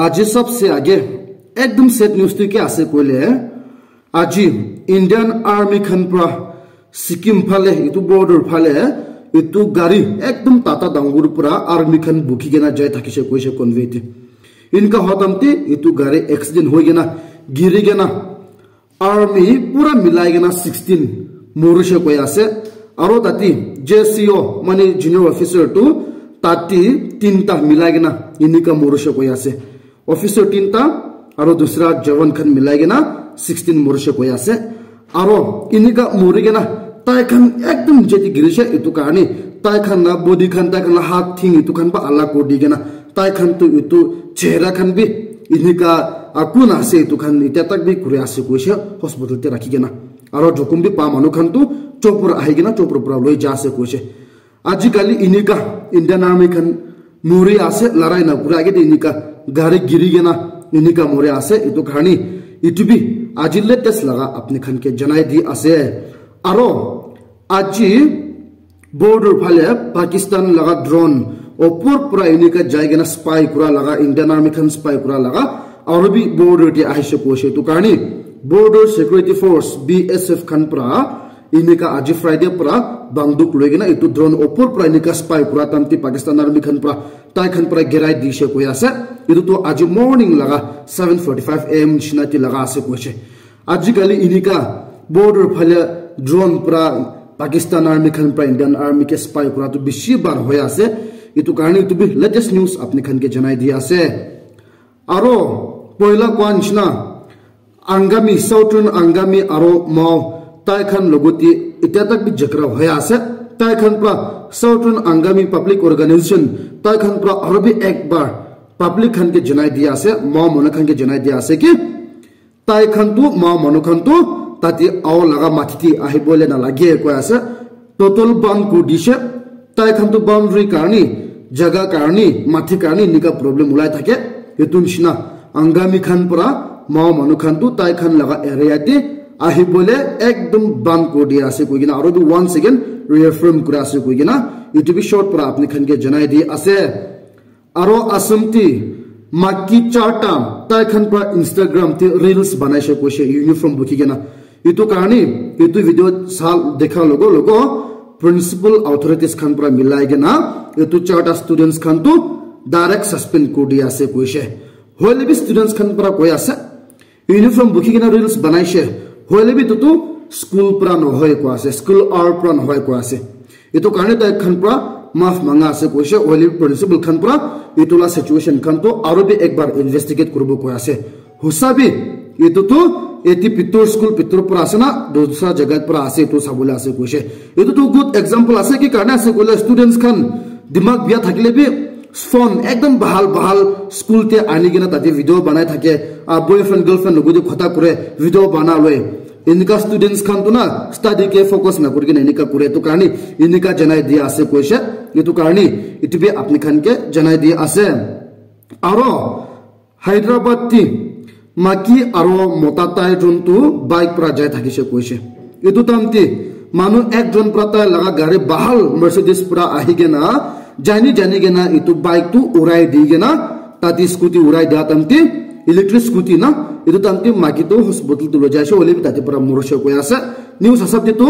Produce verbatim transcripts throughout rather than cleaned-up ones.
Aji sabse age ekdam sad news tu kya ase koile, aji Indian Army khan pra Sikkim phale, itu border phale, itu gari ekdam tata dangur pra army khan bukhi kena jai thakise koise convoy te. Inka hotam te itu gari accident hoi kena, giri kena, army pura milai kena sixteen morise koi ase. Aro tati J C O, mane junior officer tu tati tinta milai kena inika morise koi ase. Officer tinta aro dusra jawan khan milai kena sixteen morise koi ase. Aro inika mori kena tai khan ekdam jeti girise, itu karne tai khan la body khan, tai khan la hat thing itu khan ba alag kori di kena, tai khan tu itu chehra khan bi inika akun ase itu khan itya tak bi kuri ase koise hospital te rakhi kena. Aro jokhom bi pa manu khan tu chopra ahi kena chopra pra loi ja ase koise. Ajikali inika Indian Army khan muri ase, larai na kura age de inika gari giri kena inika muri ase. Itu karne itu bi aji latest laga apni khan ke janai di ase. Aro aji border phale Pakistan laga drone opor pura inika jai kena spy kura laga, Indian Army khan spy kura laga, aro bi border te ahise koise. Itu karne Border Security Force, B S F khan pra inika aji Friday pra banduk loi kena itu drone opor pra inika spy kura tamti Pakistan Army khan pra, tai khan pra girai dise koi ase. Itu tu aji morning laga seven forty-five A M nishina ti laga ase koise. Ajikali inika border phale drone pra Pakistan Army khan pra Indian Army ke spy kura tu bishi bar hoi ase. Itu karne itu bi latest news apni khan ke janai di ase. Aro poila koa nishina Angami, Southern Angami aro Mao, tai khan logote itya tak bi jhagara hoi ase. Tai khan pra Southern Angami Public Organization, tai khan pra aro bi ek bar public khan ke janai di ase, Mao manu khan ke janai di ase ki tai khan tu, Mao manu khan tu tate ao laga mati te ahibole na lage koi ase. Total ban kuri dishe. Tai khan tu boundary karni, jaga karni, mati karni nika problem ulai thake. Itu nishina Angami khan pra Mao manu khan tu tai khan laga area te ahibole ekdom ban kuri dia ase koi kena, aro bi once again reaffirm kura ase koi kena, itu bi short pra apni khan ke janai di ase. Aro Assam ti maki charta tai khan pra Instagram te reels banaise koise uniform bukhi kena. Itu karne itu video sa dekha logo logo principal authorities khan pra milai kena itu charta students khan tu direct suspend kuri di ase koise. Hoile bi students khan pra koi ase, uniform bukhi kena reels banaise, hoile bi itu tu school pra nohoi koi ase, school hour pra nohoi koi ase. Itu karne tai khan pra maaf manga ase koise, hoile bi principal khan pra itu la situation khan tu aro bi ek bar investigate kuribo koi ase. Hosa bi itu tu eti pitor school pitor pra ase na dusra jaga pra ase itu sabole ase koise. Itu tu good example ase ki karne ase koile students khan dimag biya thakile bi phone ekdom bahal bahal school te ani kena tate video banai thake, ah, boyfriend girlfriend logo de khota kure video bana loi. Enika students khan tu na study ke focus na kuri kena enika kure, itu karne enika janai dia ase koise. Itu karne itu bi apni khan ke janai dia ase. Aro Hyderabad ti maki aro mota tai jon tu bike pra jai thakise koise. Itu time ti manu ekjon pra tai laga gari bahal Mercedes pra ahi kena jani jani kena itu bike tu urai di kena, tate scooty urai dia time ti, electric scooty na, itu time ti maki tu hospital tu loi jaise, hoile bi tate pra morise koi ase. News asap te tu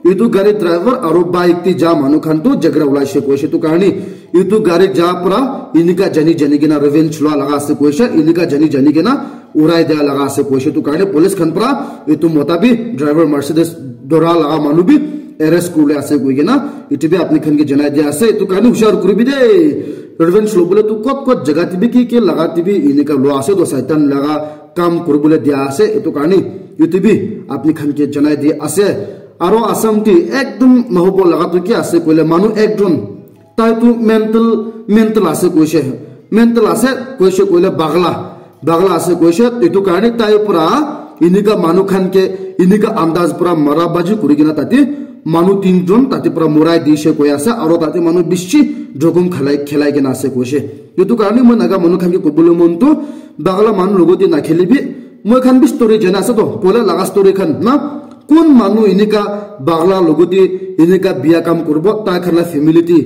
itu gari driver aro bike te ja manu khan tu jhagra ulaise koise. Itu karne itu gari ja pra enika jani jani kena revenge lua laga ase koise, enika jani jani kena urai dia laga ase koise. Itu karne police khan pra itu mota bi driver Mercedes dora laga manu bi arrest kuribole ase koi kena itu bi apni khan ke janai dia ase. Itu karne hushar kuribi de, revenge lobole tu kot kot jaga te bi ki ki laga te bi enika lua ase, to Satan laga kam kuribole dia ase. Itu karne itu bi apni khan ke janai dia ase. Aro Assam te ekdom nohobo laga tu ki ase koile, manu ekjon tai tu mental, mental ase koise, mental ase koise koile bagla, bagla ase koise. Itu karne tai pra enika manu khan ke enika andaz pra mara baji kuri kena tate manu tinjon tate pra morai dise koi ase, aro tate manu bishi jokhom khalai, khelai kena ase koise. Itu karne moi Naga manu khan ke kobole mon tu bagla manu logote nakhelibi. Moi khan bi story jana ase to, poila laga story khan na, kun manu enika bagla logote enika biya kam kuribo, tai khan la family te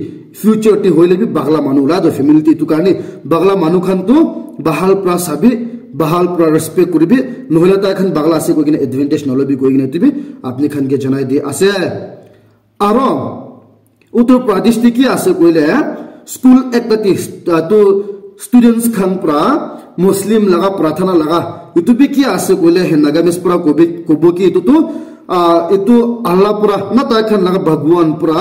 Future te hoile bi bagla manu la to family te, etu karne bagla manu khan to bahal pra sabi, bahal pra respect kuribi, nohole tai khan bagla ase koi kena advantage nalobi koi kena etu bi apni khan ke janai di ase. Aro Uttar Pradesh te ki ase koile, school ekta te, uh, to students khan pra Muslim laga prarthana laga, etu bi ki ase koile, he Nagamese pra kobi, kobo ki etu to, uh, etu Allah pra na tai khan laga Bhagwan pra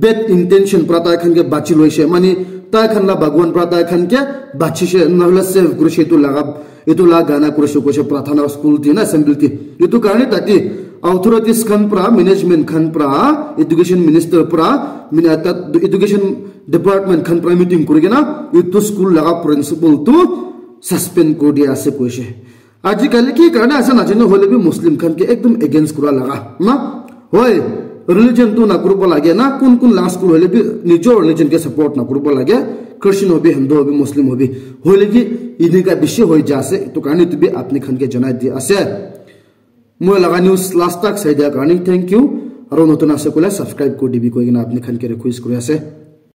bad intention pra tai khan ke bachi loise, mane tai khan la Bhagwan pra tai khan ke bachishe, nohole save kurishe etu laga, etu la gana kurishe koise prarthana school te na assembly te. Etu karne tate authorities khan pra, management khan pra, education minister pra, mina tat education department khan pra meeting kuri kena etu school laga principal to suspend kuri dia ase koise. Ajikali ki karne ase najane hoile bi Muslim khan ke ekdom against kura laga na. Hoi, religion tu na kuribo lage na, kun kun laga school hoile bi nijor religion ke support na kuribo lage, Christian hobi, Hindu hobi, Muslim hobi, hoile ki enika bishi hoi ja ase, etu karne etu bi apni khan ke janai di ase. Moi laga news last tak sai dia karne thank you, aro notun ase koile subscribe kuri dibi koi kena apni khan ke request kuri ase.